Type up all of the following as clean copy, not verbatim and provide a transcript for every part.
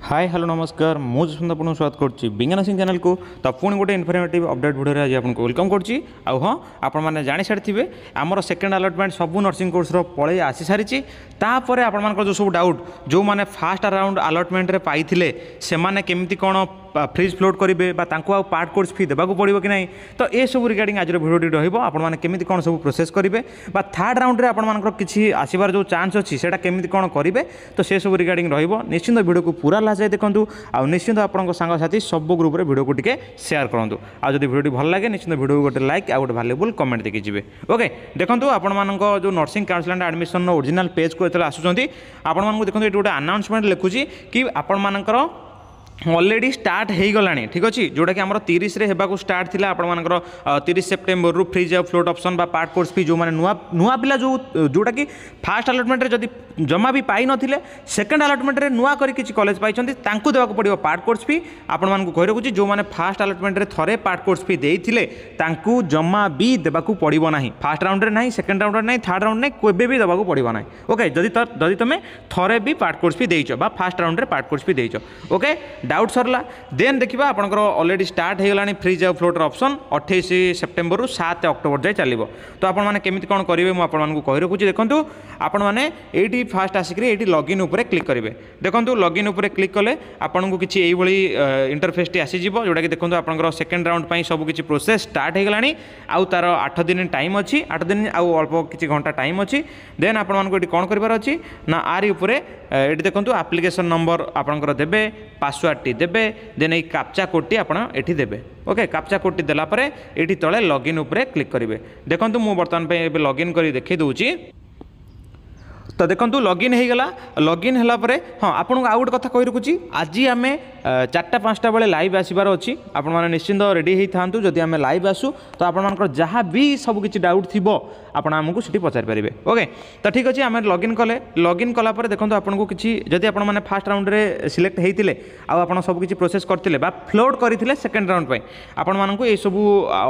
ହାଏ, hello, ନମସ୍କାର। ମୁଁ ଯଶବନ୍ତ ଆପଣଙ୍କୁ ସ୍ୱାଗତ କରୁଛି ବିଜ୍ଞାନ ସିଂ ଚ୍ୟାନେଲକୁ। ତ ପୁଣି ଗୋଟେ ଇନଫର୍ମେଟିଭ୍ ଅପଡେଟ୍ ଭିଡ଼ିଓରେ ଆଜି ଆପଣଙ୍କୁ welcome କରୁଛି। ଆଉ ହଁ, ଆପଣମାନେ ଜାଣିସାରିଥିବେ, ଆମର ସେକେଣ୍ଡ ଆଲଟମେଣ୍ଟ ସବୁ ନର୍ସିଂ କୋର୍ସର ପଳେଇ ଆସିସାରିଛି। ତାପରେ ଆପଣମାନଙ୍କର ଯେଉଁ ସବୁ ଡାଉଟ୍, ଯେଉଁମାନେ ଫାଷ୍ଟ ରାଉଣ୍ଡ ଆଲଟମେଣ୍ଟରେ ପାଇଥିଲେ, ସେମାନେ କେମିତି କ'ଣ ଫ୍ରିଜ୍ ଫ୍ଲୋଟ୍ କରିବେ ବା ତାଙ୍କୁ ଆଉ ପାର୍ଟ କୋର୍ସ ଫି ଦେବାକୁ ପଡ଼ିବ କି ନାହିଁ, ତ ଏସବୁ ରିଗାର୍ଡ଼ିଂ ଆଜିର ଭିଡ଼ିଓଟି ରହିବ। ଆପଣମାନେ କେମିତି କ'ଣ ସବୁ ପ୍ରୋସେସ୍ କରିବେ ବା ଥାର୍ଡ଼ ରାଉଣ୍ଡରେ ଆପଣମାନଙ୍କର କିଛି ଆସିବାର ଯେଉଁ ଚାନ୍ସ ଅଛି, ସେଇଟା କେମିତି କ'ଣ କରିବେ, ତ ସେସବୁ ରିଗାର୍ଡ଼ିଂ ରହିବ। ନିଶ୍ଚିନ୍ତ ଭିଡ଼ିଓକୁ ପୁରା ଲାଷ୍ଟ ଯାଏ ଦେଖନ୍ତୁ ଆଉ ନିଶ୍ଚିନ୍ତ ଆପଣଙ୍କ ସାଙ୍ଗସାଥି ସବୁ ଗ୍ରୁପରେ ଭିଡ଼ିଓକୁ ଟିକେ ସେୟାର କରନ୍ତୁ। ଆଉ ଯଦି ଭିଡ଼ିଓଟି ଭଲ ଲାଗେ, ନିଶ୍ଚିନ୍ତ ଭିଡ଼ିଓକୁ ଗୋଟେ ଲାଇକ୍ ଆଉ ଗୋଟେ ଭାଲ୍ୟୁବୁଲ୍ କମେଣ୍ଟ ଦେଇକି ଯିବେ। ଓକେ, ଦେଖନ୍ତୁ, ଆପଣମାନଙ୍କ ଯେଉଁ ନର୍ସିଂ କାଉନସିଲ୍ ଆଣ୍ଡ ଆଡ଼ମିସନ୍ର ଓରିଜିନାଲ୍ ପେଜ୍କୁ ଯେତେବେଳେ ଆସୁଛନ୍ତି, ଆପଣମାନଙ୍କୁ ଦେଖନ୍ତୁ, ଏଠି ଗୋଟେ ଆନାଉନ୍ସମେଣ୍ଟ ଲେଖୁଛି କି ଆପଣମାନଙ୍କର ଅଲରେଡ଼ି ଷ୍ଟାର୍ଟ ହେଇଗଲାଣି। ଠିକ୍ ଅଛି, ଯେଉଁଟାକି ଆମର 30ରେ ହେବାକୁ ଷ୍ଟାର୍ଟ ଥିଲା ଆପଣମାନଙ୍କର, 30 ସେପ୍ଟେମ୍ବରରୁ ଫ୍ରିଜ୍ ଆଉ ଫ୍ଲୋଟ୍ ଅପସନ୍ ବା ପାର୍ଟ କୋର୍ସ ଫି, ଯେଉଁମାନେ ନୂଆ ନୂଆ ପିଲା ଯେଉଁଟାକି ଫାଷ୍ଟ ଆଲଟମେଣ୍ଟରେ ଯଦି ଜମା ବି ପାଇନଥିଲେ, ସେକେଣ୍ଡ ଆଲଟମେଣ୍ଟରେ ନୂଆ କରି କିଛି କଲେଜ ପାଇଛନ୍ତି, ତାଙ୍କୁ ଦେବାକୁ ପଡ଼ିବ ପାର୍ଟ କୋର୍ସ ଫି। ଆପଣମାନଙ୍କୁ କହି ରଖୁଛି, ଯେଉଁମାନେ ଫାଷ୍ଟ ଆଲଟମେଣ୍ଟରେ ଥରେ ପାର୍ଟ କୋର୍ସ ଫି ଦେଇଥିଲେ, ତାଙ୍କୁ ଜମା ବି ଦେବାକୁ ପଡ଼ିବ ନାହିଁ। ଫାଷ୍ଟ ରାଉଣ୍ଡରେ ନାହିଁ, ସେକେଣ୍ଡ ରାଉଣ୍ଡରେ ନାହିଁ, ଥାର୍ଡ଼ ରାଉଣ୍ଡ ନାହିଁ, କେବେ ବି ଦେବାକୁ ପଡ଼ିବ ନାହିଁ। ଓକେ, ଯଦି ତୁମେ ଥରେ ବି ପାର୍ଟ କୋର୍ସ ଫି ଦେଇଛ ବା ଫାଷ୍ଟ ରାଉଣ୍ଡରେ ପାର୍ଟ କୋର୍ସ ଫି ଦେଇଛ। ଓକେ, ଡାଉଟ୍ ସରିଲା। ଦେନ୍ ଦେଖିବା, ଆପଣଙ୍କର ଅଲରେଡ଼ି ଷ୍ଟାର୍ଟ ହେଇଗଲାଣି ଫ୍ରିଜ୍ ଆଉ ଫ୍ଲୋଟ୍ର ଅପସନ୍। 28 ସେପ୍ଟେମ୍ବରରୁ 7 ଅକ୍ଟୋବର ଯାଏ ଚାଲିବ। ତ ଆପଣମାନେ କେମିତି କ'ଣ କରିବେ, ମୁଁ ଆପଣମାନଙ୍କୁ କହି ରଖୁଛି। ଦେଖନ୍ତୁ, ଆପଣମାନେ ଏଇଠି ଫାଷ୍ଟ ଆସିକରି ଏଇଠି ଲଗ୍ଇନ୍ ଉପରେ କ୍ଲିକ୍ କରିବେ। ଦେଖନ୍ତୁ, ଲଗ୍ଇନ୍ ଉପରେ କ୍ଲିକ୍ କଲେ ଆପଣଙ୍କୁ କିଛି ଏଇଭଳି ଇଣ୍ଟରଫେସ୍ଟି ଆସିଯିବ, ଯେଉଁଟାକି ଦେଖନ୍ତୁ, ଆପଣଙ୍କର ସେକେଣ୍ଡ ରାଉଣ୍ଡ ପାଇଁ ସବୁ କିଛି ପ୍ରୋସେସ୍ ଷ୍ଟାର୍ଟ ହେଇଗଲାଣି। ଆଉ ତାର 8 ଦିନ ଟାଇମ୍ ଅଛି, 8 ଦିନ ଆଉ ଅଳ୍ପ କିଛି ଘଣ୍ଟା ଟାଇମ୍ ଅଛି। ଦେନ୍ ଆପଣମାନଙ୍କୁ ଏଠି କ'ଣ କରିବାର ଅଛି ନା, ଆରି ଉପରେ ଏଠି ଦେଖନ୍ତୁ, ଆପ୍ଲିକେସନ୍ ନମ୍ବର ଆପଣଙ୍କର ଦେବେ, ପାସୱାର୍ଡ଼ଟି ଦେବେ, ଦେନ୍ ଏଇ କାପଚା କୋଡ଼ଟି ଆପଣ ଏଠି ଦେବେ। ଓକେ, କାପଚା କୋଡ଼ଟି ଦେଲା ପରେ ଏଇଠି ତଳେ ଲଗ୍ଇନ୍ ଉପରେ କ୍ଲିକ୍ କରିବେ। ଦେଖନ୍ତୁ, ମୁଁ ବର୍ତ୍ତମାନ ପାଇଁ ଏବେ ଲଗ୍ଇନ୍ କରି ଦେଖାଇ ଦେଉଛି। ତ ଦେଖନ୍ତୁ, ଲଗ୍ଇନ୍ ହେଇଗଲା। ଲଗ୍ଇନ୍ ହେଲା ପରେ, ହଁ, ଆପଣଙ୍କୁ ଆଉ ଗୋଟେ କଥା କହି ରଖୁଛି, ଆଜି ଆମେ 4ଟା 5ଟା ବେଳେ ଲାଇଭ୍ ଆସିବାର ଅଛି। ଆପଣମାନେ ନିଶ୍ଚିନ୍ତ ରେଡ଼ି ହେଇଥାନ୍ତୁ। ଯଦି ଆମେ ଲାଇଭ୍ ଆସୁ, ତ ଆପଣମାନଙ୍କର ଯାହା ବି ସବୁ କିଛି ଡାଉଟ୍ ଥିବ, ଆପଣ ଆମକୁ ସେଠି ପଚାରିପାରିବେ। ଓକେ, ତ ଠିକ୍ ଅଛି, ଆମେ ଲଗ୍ଇନ୍ କଲେ। ଲଗ୍ଇନ୍ କଲା ପରେ ଦେଖନ୍ତୁ, ଆପଣଙ୍କୁ କିଛି ଯଦି ଆପଣମାନେ ଫାଷ୍ଟ ରାଉଣ୍ଡରେ ସିଲେକ୍ଟ ହେଇଥିଲେ ଆଉ ଆପଣ ସବୁ କିଛି ପ୍ରୋସେସ୍ କରିଥିଲେ ବା ଫ୍ଲୋଟ୍ କରିଥିଲେ ସେକେଣ୍ଡ ରାଉଣ୍ଡ ପାଇଁ, ଆପଣମାନଙ୍କୁ ଏସବୁ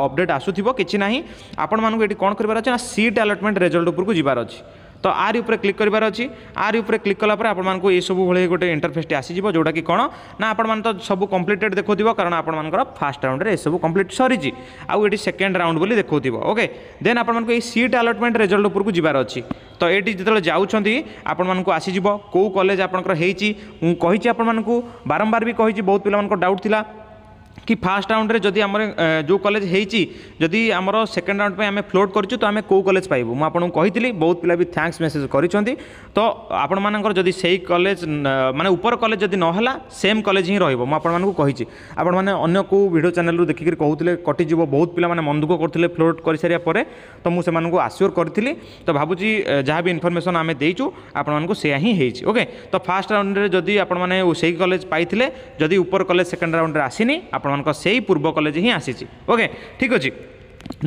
ଅପଡ଼େଟ୍ ଆସୁଥିବ। କିଛି ନାହିଁ, ଆପଣମାନଙ୍କୁ ଏଠି କ'ଣ କରିବାର ଅଛି ନା, ସିଟ୍ ଆଲଟମେଣ୍ଟ ରେଜଲ୍ଟ ଉପରକୁ ଯିବାର ଅଛି। ତ ଆରି ଉପରେ କ୍ଲିକ୍ କରିବାର ଅଛି। ଆରି ଉପରେ କ୍ଲିକ୍ କଲା ପରେ ଆପଣମାନଙ୍କୁ ଏସବୁ ଭଳି ଗୋଟେ ଇଣ୍ଟରଫେସ୍ଟି ଆସିଯିବ, ଯେଉଁଟାକି କ'ଣ ନା, ଆପଣମାନେ ତ ସବୁ କମ୍ପ୍ଲିଟେଡ୍ ଦେଖାଉଥିବ, କାରଣ ଆପଣମାନଙ୍କର ଫାଷ୍ଟ ରାଉଣ୍ଡରେ ଏସବୁ କମ୍ପ୍ଲିଟ୍ ସରିଛି ଆଉ ଏଠି ସେକେଣ୍ଡ ରାଉଣ୍ଡ ବୋଲି ଦେଖାଉଥିବ। ଓକେ, ଦେନ୍ ଆପଣମାନଙ୍କୁ ଏଇ ସିଟ୍ ଆଲଟମେଣ୍ଟ ରେଜଲ୍ଟ ଉପରକୁ ଯିବାର ଅଛି। ତ ଏଇଠି ଯେତେବେଳେ ଯାଉଛନ୍ତି, ଆପଣମାନଙ୍କୁ ଆସିଯିବ କେଉଁ କଲେଜ ଆପଣଙ୍କର ହେଇଛି। ମୁଁ କହିଛି ଆପଣମାନଙ୍କୁ, ବାରମ୍ବାର ବି କହିଛି, ବହୁତ ପିଲାମାନଙ୍କ ଡାଉଟ୍ ଥିଲା କି ଫାଷ୍ଟ ରାଉଣ୍ଡରେ ଯଦି ଆମର ଯେଉଁ କଲେଜ ହେଇଛି, ଯଦି ଆମର ସେକେଣ୍ଡ ରାଉଣ୍ଡ ପାଇଁ ଆମେ ଫ୍ଲୋଟ୍ କରିଛୁ, ତ ଆମେ କେଉଁ କଲେଜ ପାଇବୁ? ମୁଁ ଆପଣଙ୍କୁ କହିଥିଲି, ବହୁତ ପିଲା ବି thanks message କରିଛନ୍ତି। ତ ଆପଣମାନଙ୍କର ଯଦି ସେଇ କଲେଜ, ମାନେ ଉପର କଲେଜ ଯଦି ନହେଲା, ସେମ୍ କଲେଜ ହିଁ ରହିବ। ମୁଁ ଆପଣମାନଙ୍କୁ କହିଛି। ଆପଣମାନେ ଅନ୍ୟ କେଉଁ ଭିଡ଼ିଓ ଚ୍ୟାନେଲରୁ ଦେଖିକରି କହୁଥିଲେ କଟିଯିବ। ବହୁତ ପିଲାମାନେ ମନ ଦୁଃଖ କରୁଥିଲେ ଫ୍ଲୋଟ୍ କରିସାରିବା ପରେ। ତ ମୁଁ ସେମାନଙ୍କୁ ଆସିଓର କରିଥିଲି। ତ ଭାବୁଛି ଯାହା ବି ଇନଫର୍ମେସନ୍ ଆମେ ଦେଇଛୁ ଆପଣମାନଙ୍କୁ, ସେୟା ହିଁ ହେଇଛି। ଓକେ, ତ ଫାଷ୍ଟ ରାଉଣ୍ଡରେ ଯଦି ଆପଣମାନେ ସେଇ କଲେଜ ପାଇଥିଲେ, ଯଦି ଉପର କଲେଜ ସେକେଣ୍ଡ ରାଉଣ୍ଡରେ ଆସିନି, ଆପଣମାନଙ୍କ ସେଇ ପୂର୍ବ କଲେଜ ହିଁ ଆସିଛି। ଓକେ, ଠିକ୍ ଅଛି।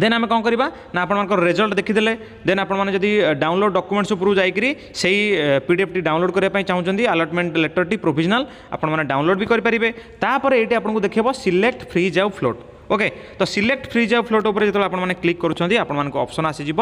ଦେନ୍ ଆମେ କ'ଣ କରିବା ନା, ଆପଣଙ୍କର ରେଜଲ୍ଟ ଦେଖିଦେଲେ, ଦେନ୍ ଆପଣମାନେ ଯଦି ଡାଉନଲୋଡ଼ ଡକୁମେଣ୍ଟସ୍ ଉପରକୁ ଯାଇକରି ସେଇ ପିଡିଏଫ୍ଟି ଡାଉନଲୋଡ଼ କରିବା ପାଇଁ ଚାହୁଁଛନ୍ତି, ଆଲଟମେଣ୍ଟ ଲେଟରଟି ପ୍ରୋଭିଜନାଲ୍, ଆପଣମାନେ ଡାଉନଲୋଡ଼ ବି କରିପାରିବେ। ତାପରେ ଏଇଠି ଆପଣଙ୍କୁ ଦେଖେଇବ ସିଲେକ୍ଟ ଫ୍ରିଜ୍ ଆଉ ଫ୍ଲୋଟ୍। ଓକେ, ତ ସିଲେକ୍ଟ ଫ୍ରିଜ୍ ଆଉ ଫ୍ଲୋଟ୍ ଉପରେ ଯେତେବେଳେ ଆପଣମାନେ କ୍ଲିକ୍ କରୁଛନ୍ତି, ଆପଣମାନଙ୍କୁ ଅପସନ୍ ଆସିଯିବ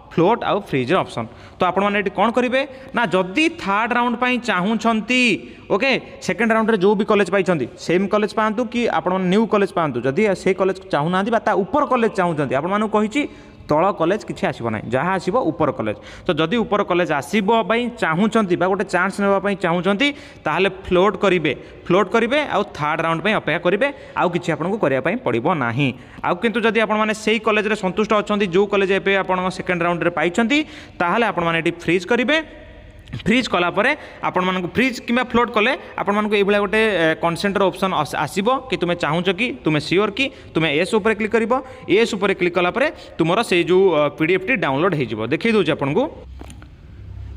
ଫ୍ଲୋଟ୍ ଆଉ ଫ୍ରିଜ୍ର ଅପସନ୍। ତ ଆପଣମାନେ ଏଠି କ'ଣ କରିବେ ନା, ଯଦି ଥାର୍ଡ଼ ରାଉଣ୍ଡ ପାଇଁ ଚାହୁଁଛନ୍ତି, ଓକେ, ସେକେଣ୍ଡ ରାଉଣ୍ଡରେ ଯେଉଁ ବି କଲେଜ ପାଇଛନ୍ତି, ସେମ୍ କଲେଜ ପାଆନ୍ତୁ କି ଆପଣମାନେ ନ୍ୟୁ କଲେଜ ପାଆନ୍ତୁ, ଯଦି ସେଇ କଲେଜ ଚାହୁଁନାହାନ୍ତି ବା ତା ଉପର କଲେଜ ଚାହୁଁଛନ୍ତି, ଆପଣମାନଙ୍କୁ କହିଛି, ତଳ କଲେଜ କିଛି ଆସିବ ନାହିଁ, ଯାହା ଆସିବ ଉପର କଲେଜ। ତ ଯଦି ଉପର କଲେଜ ଆସିବ ପାଇଁ ଚାହୁଁଛନ୍ତି ବା ଗୋଟେ ଚାନ୍ସ ନେବା ପାଇଁ ଚାହୁଁଛନ୍ତି, ତାହେଲେ ଫ୍ଲୋଟ୍ କରିବେ। ଫ୍ଲୋଟ୍ କରିବେ ଆଉ ଥାର୍ଡ଼ ରାଉଣ୍ଡ ପାଇଁ ଅପେକ୍ଷା କରିବେ। ଆଉ କିଛି ଆପଣଙ୍କୁ କରିବା ପାଇଁ ପଡ଼ିବ ନାହିଁ। ଆଉ କିନ୍ତୁ ଯଦି ଆପଣମାନେ ସେଇ କଲେଜରେ ସନ୍ତୁଷ୍ଟ ଅଛନ୍ତି, ଯେଉଁ କଲେଜ ଏବେ ଆପଣ ସେକେଣ୍ଡ ରାଉଣ୍ଡରେ ପାଇଛନ୍ତି, ତାହେଲେ ଆପଣମାନେ ଏଠି ଫ୍ରିଜ୍ କରିବେ। ଫ୍ରିଜ୍ କଲା ପରେ ଆପଣମାନଙ୍କୁ, ଫ୍ରିଜ୍ କିମ୍ବା ଫ୍ଲୋଟ୍ କଲେ ଆପଣମାନଙ୍କୁ ଏଇଭଳିଆ ଗୋଟେ କନସେଣ୍ଟର ଅପସନ୍ ଆସିବ କି ତୁମେ ଚାହୁଁଛ କି, ତୁମେ ସିଓର କି? ତୁମେ ଏସ୍ ଉପରେ କ୍ଲିକ୍ କରିବ। ଏସ୍ ଉପରେ କ୍ଲିକ୍ କଲା ପରେ ତୁମର ସେଇ ଯେଉଁ ପିଡିଏଫ୍ଟି ଡାଉନଲୋଡ଼ ହେଇଯିବ। ଦେଖାଇ ଦେଉଛି ଆପଣଙ୍କୁ।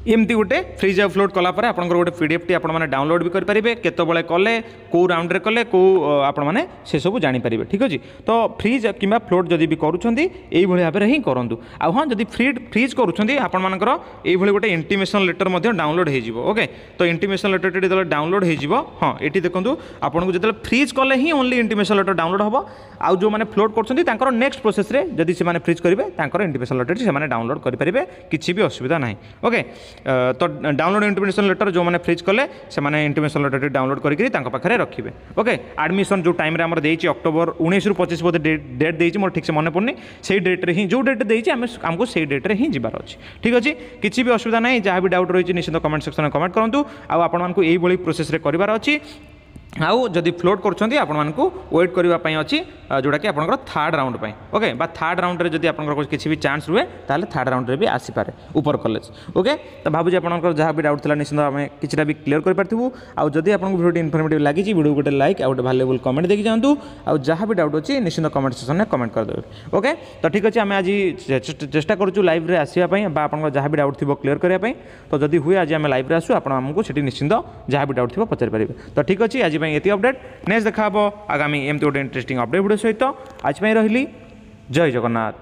ଏମିତି ଗୋଟେ ଫ୍ରିଜ୍ ଆଉ ଫ୍ଲୋଟ୍ କଲା ପରେ ଆପଣଙ୍କର ଗୋଟେ ପିଡିଏଫ୍ଟି ଆପଣମାନେ ଡାଉନଲୋଡ଼ ବି କରିପାରିବେ। କେତେବେଳେ କଲେ, କେଉଁ ରାଉଣ୍ଡରେ କଲେ, କେଉଁ, ଆପଣମାନେ ସେସବୁ ଜାଣିପାରିବେ। ଠିକ୍ ଅଛି, ତ ଫ୍ରିଜ୍ କିମ୍ବା ଫ୍ଲୋଟ୍ ଯଦି ବି କରୁଛନ୍ତି, ଏଇଭଳି ଭାବରେ ହିଁ କରନ୍ତୁ। ଆଉ ହଁ, ଯଦି ଫ୍ରିଜ୍ କରୁଛନ୍ତି, ଆପଣମାନଙ୍କର ଏଇଭଳି ଗୋଟେ ଇଣ୍ଟିମେସନ୍ ଲେଟର୍ ମଧ୍ୟ ଡାଉନଲୋଡ଼ ହେଇଯିବ। ଓକେ, ତ ଇଣ୍ଟିମେସନ୍ ଲେଟର୍ଟି ଯେତେବେଳେ ଡାଉନଲୋଡ଼ ହେଇଯିବ, ହଁ, ଏଠି ଦେଖନ୍ତୁ, ଆପଣଙ୍କୁ ଯେତେବେଳେ ଫ୍ରିଜ୍ କଲେ ହିଁ ଓନ୍ଲି ଇଣ୍ଟିମେସନ୍ ଲେଟର୍ ଡାଉନଲୋଡ଼ ହେବ। ଆଉ ଯେଉଁମାନେ ଫ୍ଲୋଟ୍ କରୁଛନ୍ତି, ତାଙ୍କର ନେକ୍ସଟ ପ୍ରୋସେସ୍ରେ ଯଦି ସେମାନେ ଫ୍ରିଜ୍ କରିବେ, ତାଙ୍କର ଇଣ୍ଟିମେସନ୍ ଲେଟର୍ଟି ସେମାନେ ଡାଉନଲୋଡ଼ କରିପାରିବେ, କିଛି ବି ଅସୁବିଧା ନାହିଁ। ଓକେ, ତ ଡାଉନଲୋଡ଼ ଇଣ୍ଟିମେସନ୍ ଲେଟର୍ ଯେଉଁମାନେ ଫ୍ରିଜ୍ କଲେ, ସେମାନେ ଇଣ୍ଟିମେସନ୍ ଲେଟର୍ଟି ଡାଉନଲୋଡ଼ କରିକି ତାଙ୍କ ପାଖରେ ରଖିବେ। ଓକେ, ଆଡ଼ମିସନ୍ ଯେଉଁ ଟାଇମ୍ରେ ଆମର ଦେଇଛି, ଅକ୍ଟୋବର 19ରୁ 25 ବୋଧେ ଡେଟ୍ ଦେଇଛି, ମୋର ଠିକ୍ସେ ମନେ ପଡ଼ୁନି। ସେଇ ଡେଟ୍ରେ ହିଁ, ଯେଉଁ ଡେଟ୍ ଦେଇଛି, ଆମକୁ ସେଇ ଡେଟ୍ରେ ହିଁ ଯିବାର ଅଛି। ଠିକ୍ ଅଛି, କିଛି ବି ଅସୁବିଧା ନାହିଁ। ଯାହା ବି ଡାଉଟ୍ ରହିଛି, ନିଶ୍ଚିତ କମେଣ୍ଟ ସେକ୍ସନରେ କମେଣ୍ଟ କରନ୍ତୁ। ଆଉ ଆପଣମାନଙ୍କୁ ଏଇଭଳି ପ୍ରୋସେସ୍ରେ କରିବାର ଅଛି। ଆଉ ଯଦି ଫ୍ଲୋଟ୍ କରୁଛନ୍ତି, ଆପଣମାନଙ୍କୁ ୱେଟ୍ କରିବା ପାଇଁ ଅଛି, ଯେଉଁଟାକି ଆପଣଙ୍କର ଥାର୍ଡ଼ ରାଉଣ୍ଡ ପାଇଁ। ଓକେ, ବା ଥାର୍ଡ଼ ରାଉଣ୍ଡରେ ଯଦି ଆପଣଙ୍କର କିଛି ବି ଚାନ୍ସ ରୁହେ, ତାହେଲେ ଥାର୍ଡ଼ ରାଉଣ୍ଡରେ ବି ଆସିପାରେ ଉପର କଲେଜ। ଓକେ, ତ ଭାବୁଛି ଆପଣଙ୍କର ଯାହା ବି ଡାଉଟ୍ ଥିଲା, ନିଶ୍ଚିତ ଆମେ କିଛିଟା ବି କ୍ଲିୟର କରିପାରିଥିବୁ। ଆଉ ଯଦି ଆପଣଙ୍କୁ ଭିଡ଼ିଓଟି ଇନଫର୍ମେଟିଭ୍ ଲାଗିଛି, ଭିଡ଼ିଓ ଗୋଟେ ଲାଇକ୍ ଆଉ ଗୋଟେ ଭାଲ୍ୟୁଏବୁଲ୍ କମେଣ୍ଟ ଦେଇକି ଯାଆନ୍ତୁ। ଆଉ ଯାହା ବି ଡାଉଟ୍ ଅଛି, ନିଶ୍ଚିତ କମେଣ୍ଟ ସେକ୍ସନରେ କମେଣ୍ଟ କରିଦେବେ। ଓକେ, ତ ଠିକ୍ ଅଛି, ଆମେ ଆଜି ଚେଷ୍ଟା କରୁଛୁ ଲାଇଭ୍ରେ ଆସିବା ପାଇଁ ବା ଆପଣଙ୍କର ଯାହା ବି ଡାଉଟ୍ ଥିବ କ୍ଲିୟର କରିବା ପାଇଁ। ତ ଯଦି ହୁଏ, ଆଜି ଆମେ ଲାଇଭ୍ରେ ଆସୁ, ଆପଣ ଆମକୁ ସେଠି ନିଶ୍ଚିତ ଯାହା ବି ଡାଉଟ୍ ଥିବ ପଚାରିପାରିବେ। ତ ଠିକ୍ ଅଛି, ଆଜି ପାଇଁ ଏତିକି ଅପଡେଟ୍। ନେକ୍ସଟ ଦେଖା ହେବ ଆଗାମୀ ଏମିତି ଗୋଟେ ଇଣ୍ଟରେଷ୍ଟିଂ ଅପଡେଟ୍ ଭିଡ଼ିଓ ସହିତ। ଆଜି ପାଇଁ ରହିଲି, ଜୟ ଜଗନ୍ନାଥ।